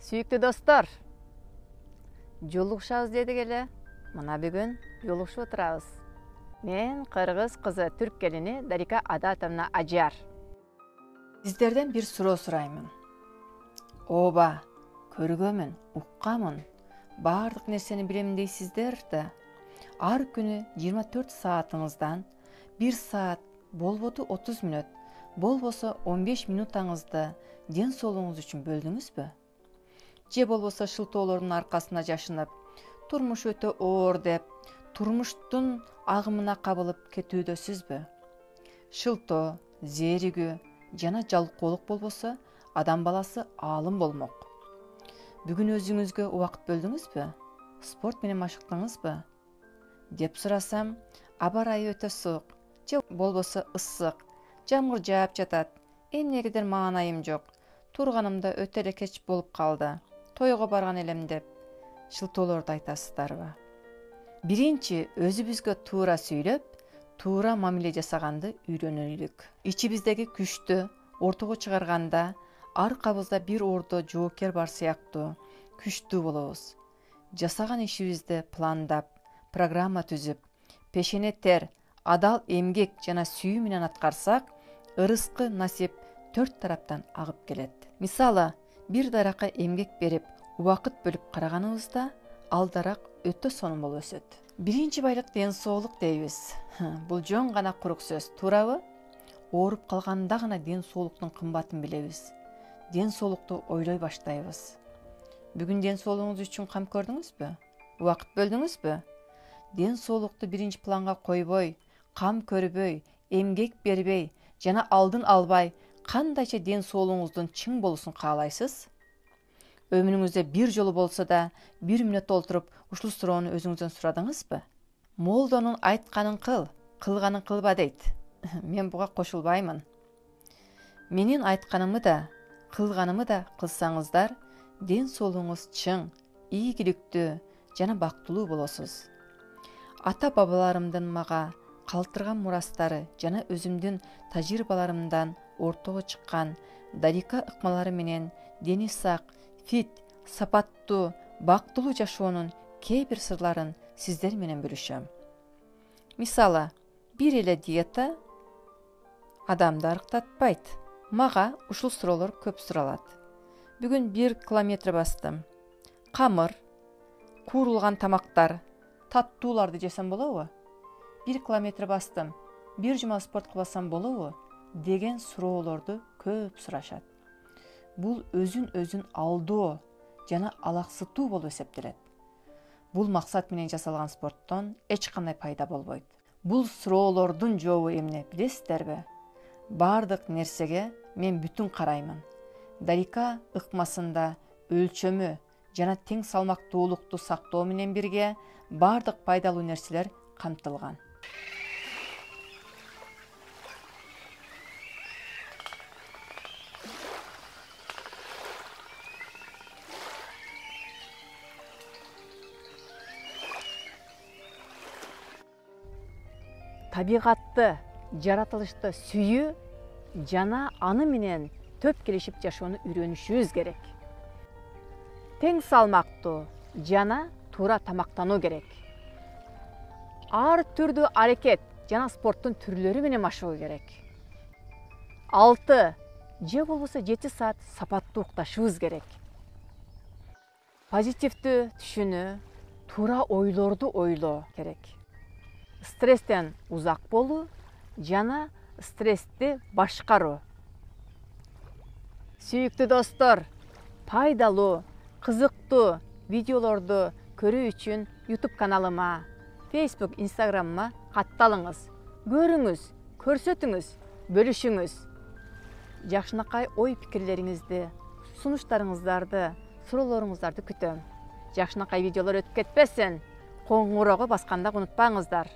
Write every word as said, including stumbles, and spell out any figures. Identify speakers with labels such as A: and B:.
A: Сүйүктүү достор, жолугушабыз дедик эле. Мына бүгүн жолугушуп отурабыз. Мен кыргыз кызы түрк келини Дарика Адатовна Ажар. Сиздерден бир суроо сураймын. Ооба, көргөмүн, уккамын, баардык нерсени билем дейсиздер да. Ар күнү жыйырма төрт саатыңыздан бир саат, болбоду отуз мүнөт, болбосо он беш минутаңызды ден соолугуңуз үчүн бөлдүңүзбү? Же болбосо шылтоолордун аркасына жашынып, турмуш өтө оор деп, турмуштун агымына кабылып кетүүдөсүзбү? Шылтоо, зээригүү жана жалкоолук болбосо, адам баласы аалым болмок. Бүгүн өзүңүзгө убакыт бөлдүңүзбү? Спорт менен машыктыңызбы? Деп сурасам, аба ырайы өтө суук, же болбосо ысык, жамгыр жаап жатат, эмнегедир маанайым жок, турганымда өтө эле кеч болуп калды, тойго барган элем деп шылтоолорду айтасыздарбы? Биринчи өзүбүзгө туура сүйлөп, туура мамиле жасаганды үйрөнөлүк. Ичибиздеги күчтү ортого чыгарганда, аркабызда бир ордо жоокер бар сыяктуу күчтүү болобуз. Жасаган ишибизди пландап, программа түзүп, пешене тер, адал эмгек жана сүйүү менен аткарсак, ырыскы насип төрт тараптан агып келет. Мисалы, бир даракка эмгек берип, убакыт бөлүп караганыбызда, алдарак өтө сонун болуп өсөт. Биринчи байлык ден соолук дейбиз. Бул жөн гана курук сөз, туурабы? Ооруп калганда гана ден соолуктун кымбатын билебиз. Ден соолукту ойлой баштайбыз. Бүгүн ден соолугуңуз үчүн кам көрдүңүзбү? Убакыт бөлдүңүзбү? Ден соолукту биринчи планга койбой, кам көрбөй, эмгек бербей жана алдын албай, кандайча ден соолугуңуздун чың болуусун каалайсыз? Өмүрүңүздө бир жолу болсо да, бир мүнөт олтуруп, ушул суроону өзүңүздөн сурадыңызбы? Молдонун айтканын кыл, кылганын кылба дейт. Мен буга кошулбаймын. Менин айтканымы да, кылганымы да кылсаңыздар, ден соолугуңуз чың, ийгиликтүү жана бактылуу болосуз. Ата бабаларымдын мага калтырган мурастары жана өзүмдүн тажрыйбаларымдан ортого чыккан Дарика ыкмалары менен дени сак, фит, сапаттуу, бактылуу жашоонун кээ бир сырларын сиздер менен бөлүшөм. Мисалы, бир эле диета адамды арыктатпайт. Мага ушул суроолор көп суралат. Бүгүн бир километр бастым. Камыр, куурулган тамактар, таттууларды жесем болобу? Бир километр бастым. Бир жума спорт кылбасам болобу? Деген суроолорду көп сурашат. Бул өзүн өзүн алдоо жана алаксытуу болуп эсептелет. Бул максат менен жасалган спорттон эч кандай пайда болбойт. Бул суроолордун жообу эмне билесиздерби? Бардык нерсеге мен бүтүн караймын. Дарика ыкмасында өлчөмү жана тең салмактуулукту сактоо менен бирге бардык пайдалуу нерселер камтылган. Табигатты, жаратылышты сүйүү жана аны менен төп келишип жашоону үйрөнүшүбүз керек. Тең салмактуу жана туура тамактануу керек. Ар түрдүү аракет жана спорттун түрлөрү менен машыгуу керек. алты же болбосо жети саат сапаттуу укташыбыз керек. Позитивдүү түшүнүү, туура ойлорду ойлоо керек. Стресстен узак болуу жана стрессти башкаруу. Сүйүктүү достор, пайдалуу, кызыктуу видеолорду көрүү үчүн YouTube каналыма, Facebook, Instagram'ыма катталыңыз. Көрүңүз, көрсөтүңүз, бөлүшүңүз. Жакшынакай ой пикирлериңизди, сунуштарыңыздарды, суроолоруңуздарды күтөм. Жакшынакай видеолор өтүп кетпесин. Коңгуроо басканда унутпаңыздар.